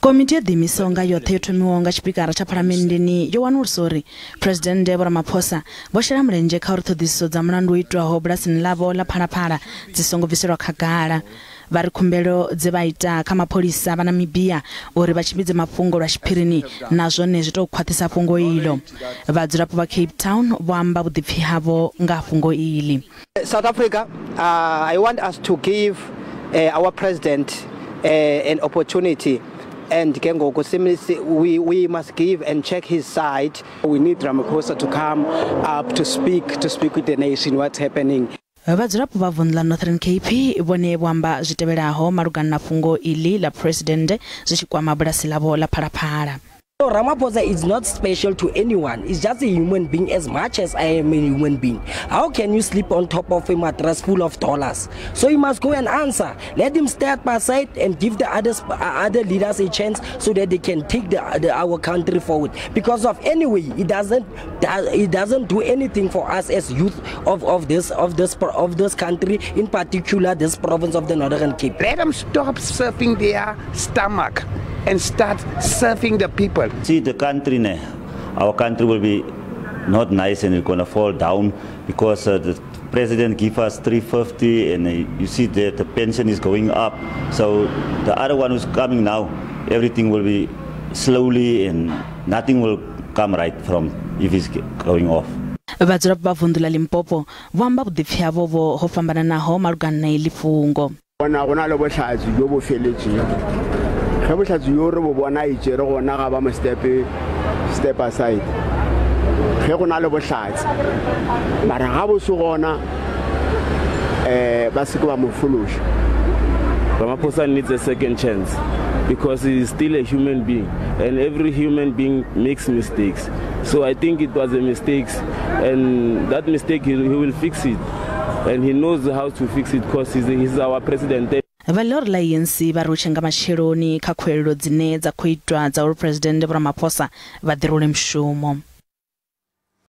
Komiti yo ḓiimisaho nga yoṱhe yo thomiwaho nga tshipikara tsha phalamenndeni yo wanulusa uri Phresidennde Vho Ramaphosa vho shela mulenzhe kha uri ṱhoḓisiso dza mulandu wo itwaho bulasini ḽavho ḽa Phalaphala dzi songo bviselwa khagala. Vha ri khumbelo dze vha ita kha mapholisa vha Namibia uri vha tshimbidze mafhungo lwa tshiphirini na zwone zwi tou khwaṱhisa fhungo iḽo. Vhadzulapo vha Cape Town vho amba vhuḓipfi havho nga ha fhungo iḽi. South Africa, I want us to give our president an opportunity and ke ngoku we must give and check his side. We need Ramaphosa to come up to speak with the nation what's happening. Vhadzulapo vha vunḓu ḽa Northern Cape vhone vho amba zwi tevhelaho malugana na fhungo iḽi ḽa Phresidennde zwi tshi kwama bulasi ḽavho ḽa Phalaphala. So Ramaphosa is not special to anyone. He's just a human being as much as I am a human being. How can you sleep on top of a mattress full of dollars? So he must go and answer. Let him step aside and give the other leaders a chance so that they can take our country forward. Because of anyway, he doesn't do anything for us as youth of this country, in particular this province of the Northern Cape. Let them stop serving their stomach and start serving the people. See the country, ne, our country will be not nice and it's gonna fall down because the president give us 350 and you see that the pension is going up. So the other one who's coming now, everything will be slowly and nothing will come right from if it's going off. Vhadzulapo vha vunḓu ḽa Limpopo vho amba vhuḓipfi havho vho ho fhambananaho malugana na iḽi fhungo. Bona go na le bohlatse jo bo feletšego ge bohlatse jo re bo bona e tšere gona ga ba mo step aside ge go na le bohlatse mara ga bo se gona ba se ke ba mo fološa. Ramaphosa needs a second chance because he is still a human being and every human being makes mistakes. So I think it was a mistake and that mistake he will fix it and he knows how to fix it because he's our president. Vha ḽihoro ḽa ANC vha ri u tshe nga matsheloni kha khuwelelo dzine dza khou itwa dza uri Phresidennde Vho Ramaphosa vha ḓirule mushumo.